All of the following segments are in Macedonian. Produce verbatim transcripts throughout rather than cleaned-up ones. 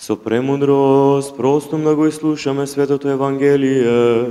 Со премудрост, простом да го изслушаме Светото Евангелие,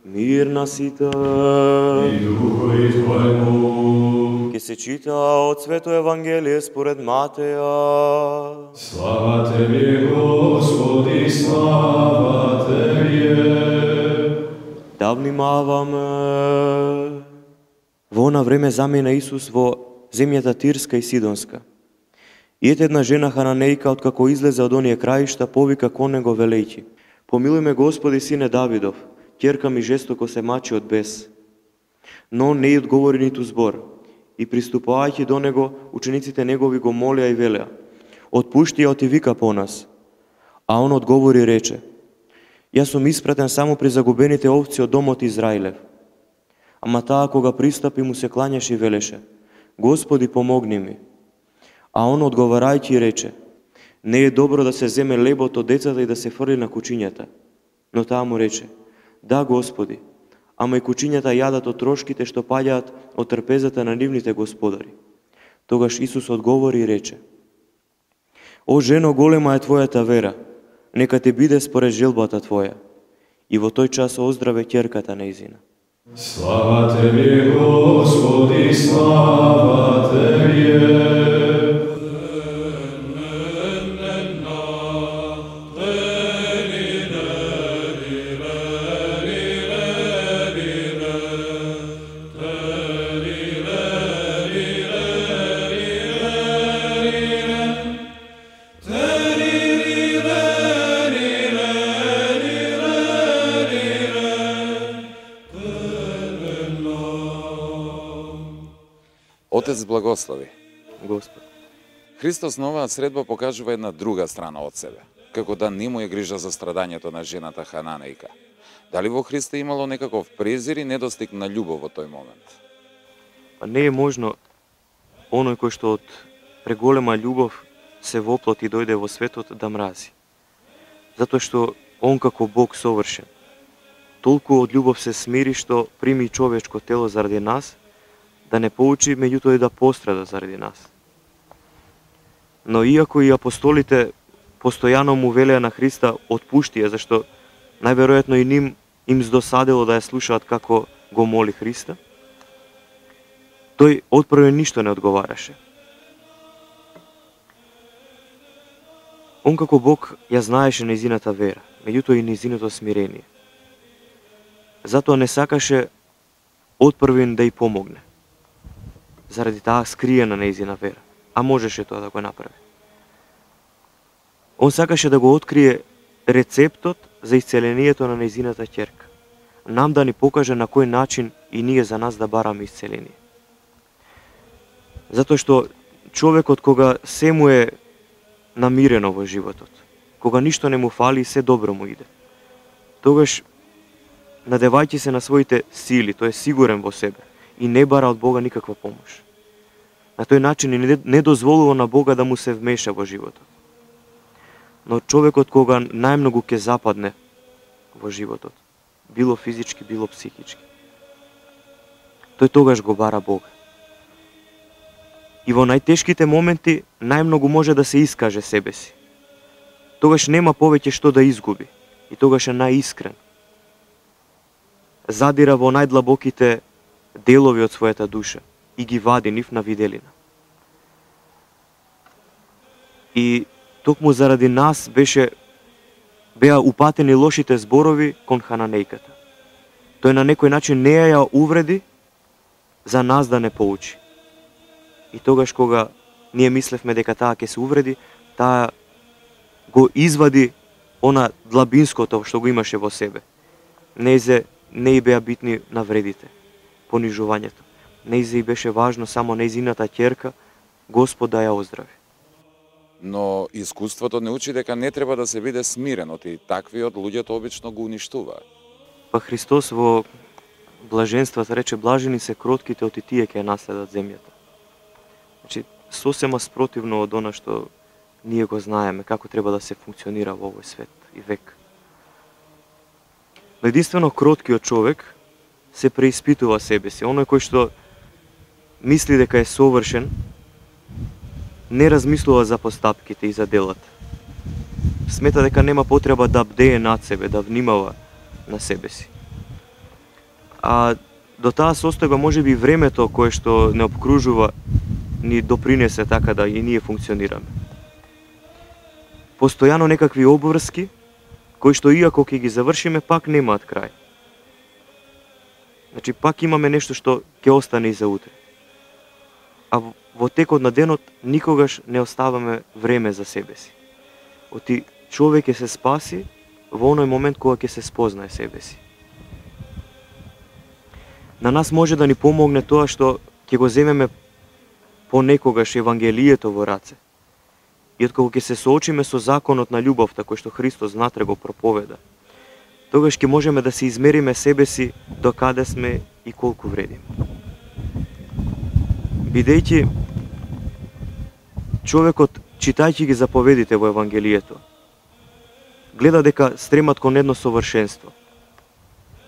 мир на сите. И духови Твоему. Ке се чита од Свето Евангелие според Матеја. Слава Тебе, Господи, слава Тебе. Да внимаваме. Во она време замина Исус во земјата Тирска и Сидонска. И ете една жена хананејка, откако излезе од оние краишта, повика кон него велејќи: Помилуј ме, Господи, сине Давидов, ќерка ми жестоко се мачи од бес. Но он не ѝ одговори ниту збор. И приступувајќи до него, учениците негови го молеа и велеа: Отпушти ја, оти вика по нас. А он одговори и рече: Јас сум испратен само при загубените овци од домот Израилев. Ама таа кога пристапи му се кланяше и велеше: Господи, помогни ми. А он одговарајќи и рече: Не е добро да се земе лебот од децата и да се фрли на кучињата. Но таа му рече: Да, Господи, ама и кучињата јадат од трошките што паѓаат од трпезата на нивните господари. Тогаш Исус одговори и рече: О жено, голема е Твојата вера, нека ти биде според желбата Твоја. И во тој час оздраве ќерката нејзина. Слава Тебе, Господи, слава Тебе. Отец благослови. Господ. Христос на оваа средба покажува една друга страна од себе, како да не му е грижа за страдањето на жената хананејка. Дали во Христа имало некаков презир и недостиг на љубов во тој момент? Па не е можно оној кој што од преголема љубов се воплоти и дојде во светот да мрази. Затоа што он како Бог совршен, толку од љубов се смири што прими човечко тело заради нас, да не поучи, меѓутоа и да пострада заради нас. Но иако и апостолите постојано му велеа на Христа отпушти ја, зашто најверојатно и ним им здосадело да ја слушаат како го моли Христа, тој отпрве ништо не одговараше. Он како Бог ја знаеше нејзината вера, меѓутоа и нејзиното смирение. Затоа не сакаше отпрвен да ја помогне, заради таа скриена нејзина вера, а можеше тоа да го направи. Он сакаше да го открие рецептот за исцелението на нејзината ќерка, нам да ни покаже на кој начин и ние за нас да бараме исцеление. Затоа што човекот кога се му е намирено во животот, кога ништо не му фали и се добро му иде, тогаш, надевајќи се на своите сили, тој е сигурен во себе и не бара од Бога никаква помош. На тој начин не дозволува на Бога да му се вмеша во животот. Но човекот кога најмногу ќе западне во животот, било физички, било психички, тој тогаш го бара Бога. И во најтешките моменти најмногу може да се искаже себе си. Тогаш нема повеќе што да изгуби и тогаш е најискрен. Задира во најдлабоките делови од својата душа и ги вади нив на виделина. И токму заради нас беше беа упатени лошите зборови кон хананејката. Тој на некој начин не ја увреди за нас да не поучи. И тогаш кога ние мислевме дека таа ќе се увреди, таа го извади она длабинското што го имаше во себе. Нејзе не и беа битни навредите, понижувањето. Нејзе и беше важно само нејзината ќерка, Господ да ја оздрави. Но искуството не учи дека не треба да се биде смирен, оти таквиот луѓето обично го уништува. Па Христос во блаженствата рече: блажени се кротките, оти тие ќе наследат земјата. Значи, сосема спротивно од она што ние го знаеме, како треба да се функционира во овој свет и век. Но единствено кроткиот човек се преиспитува себе си. Оној кој што мисли дека е совршен, не размислува за постапките и за делата. смета дека нема потреба да бдее над себе, да внимава на себе си. А до таа состојба можеби времето кое што не обкружува ни допринесе така да и ние функционираме. Постојано некакви обврски кои што иако ќе ги завршиме пак немаат крај. Значи пак имаме нешто што ќе остане и за утре. А во текот на денот никогаш не оставаме време за себе си. Оти човек ќе се спаси во оној момент кога ќе се спознае себе си. На нас може да ни помогне тоа што ќе го земеме понекогаш Евангелието во раце. И откако ќе се соочиме со законот на љубовта кој што Христос внатре го проповеда, тогаш ќе можеме да се измериме себе си до каде сме и колку вредиме. Бидејќи човекот, читајќи ги заповедите во Евангелието, гледа дека стремат кон едно совршенство.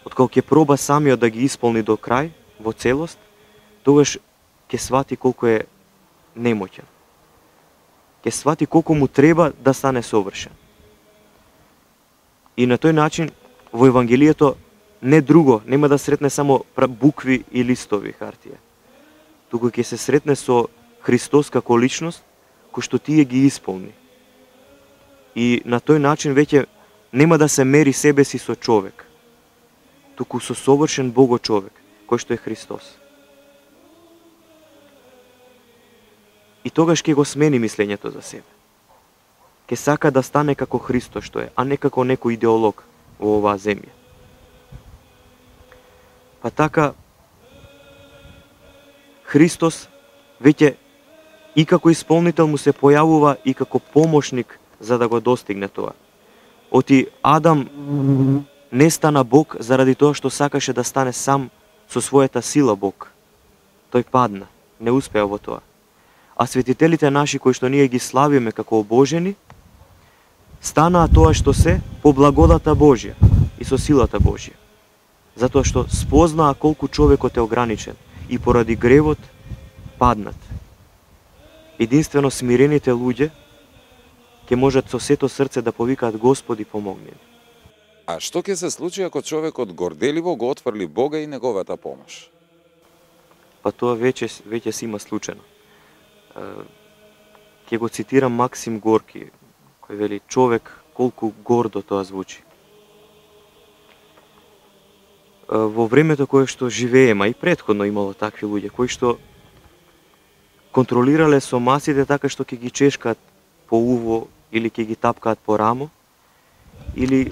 Откако ќе проба самиот да ги исполни до крај, во целост, тогаш ќе свати колку е немоќен. Ќе свати колку му треба да стане совршен. И на тој начин, во Евангелието, не друго, нема да сретне само букви и листови хартија, туку ќе се сретне со Христос како личност, кој што тие ги исполни. И на тој начин веќе нема да се мери себе си со човек, туку со совршен Бого човек, кој што е Христос. И тогаш ќе го смени мислењето за себе. Ќе сака да стане како Христос што е, а не како некој идеолог во оваа земја. Па така, Христос веќе и како исполнител му се појавува и како помошник за да го достигне тоа. Оти Адам не стана Бог заради тоа што сакаше да стане сам со својата сила Бог. Тој падна, не успеа во тоа. А светителите наши кои што ние ги славиме како обожени, станаа тоа што се по благодата Божја и со силата Божја. Затоа што спознаа колку човекот е ограничен и поради гревот паднат. Единствено смирените луѓе ќе можат со сето срце да повикаат Господи помогни. А што ќе се случи ако човекот горделиво го отфрли Бога и неговата помош? Па тоа веќе веќе си има случајно. Ќе го цитирам Максим Горки, кој вели: човек колку гордо тоа звучи. Во времето кое што живееме, и претходно имало такви луѓе кои што контролирале со масите така што ќе ги чешкаат по уво или ќе ги тапкаат по рамо, или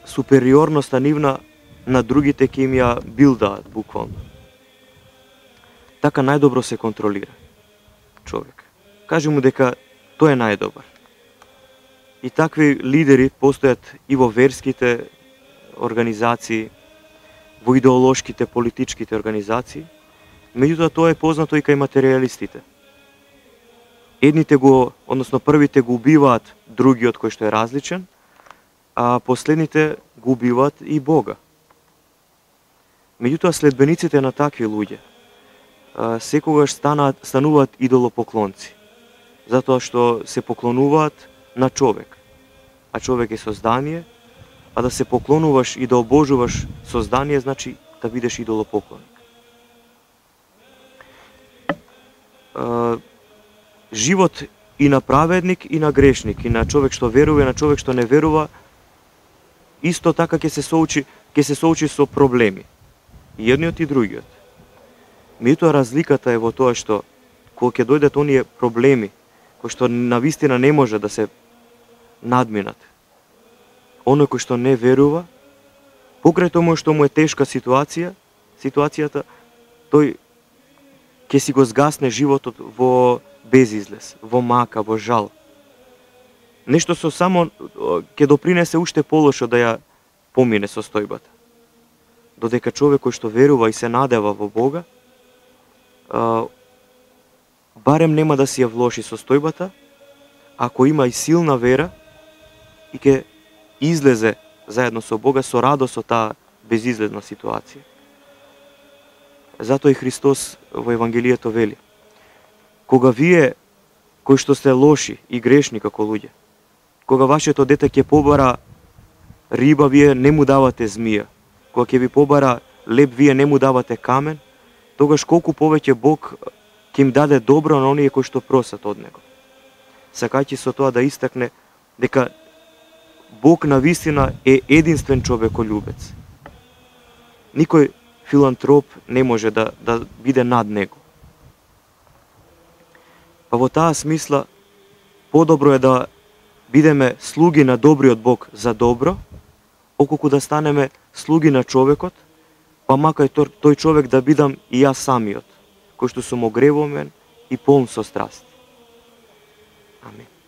супериорноста нивна на другите ќе им ја билдаат буквално. Така најдобро се контролира човек. Кажи му дека тој е најдобар. И такви лидери постојат и во верските организации, во идеолошките, политичките организации, меѓутоа тоа е познато и кај материјалистите. Едните го, односно првите го убиваат другиот кој што е различен, а последните го убиваат и Бога. Меѓутоа следбениците на такви луѓе секогаш станаат, стануваат идолопоклонци, затоа што се поклонуваат на човек, а човек е создание, а да се поклонуваш и да обожуваш создание значи да бидеш идолопоклонник. Живот и на праведник и на грешник, и на човек што верува и на човек што не верува, исто така ќе се соучи, ќе се соучи со проблеми. И едниот и другиот. Меѓутоа разликата е во тоа што кога ќе дојдат оние проблеми кои што навистина не може да се надминат, оној кој што не верува, покрај тоа што му е тешка ситуација, ситуацијата, тој ќе си го згасне животот во безизлез, во мака, во жал. Нешто со само ќе допринесе уште полошо да ја помине состојбата. Додека човек кој што верува и се надева во Бога, барем нема да си ја влоши состојбата, ако има и силна вера и ќе излезе заедно со Бога со радост со таа безизлезна ситуација. Затоа и Христос во Евангелието вели: кога вие кои што сте лоши и грешни како луѓе, кога вашето дете ќе побара риба, вие не му давате змија. Кога ќе ви побара леб, вие не му давате камен, тогаш колку повеќе Бог ќе им даде добро на оние кои што просат од Него. Сакајќи со тоа да истакне дека Бог навистина е единствен човеколюбец. Никој филантроп не може да, да биде над Него. Па во таа смисла, подобро е да бидеме слуги на добриот Бог за добро, околку да станеме слуги на човекот, па макај тој човек да бидам и јас самиот, кој што сум огревомен и полн со страст. Амин.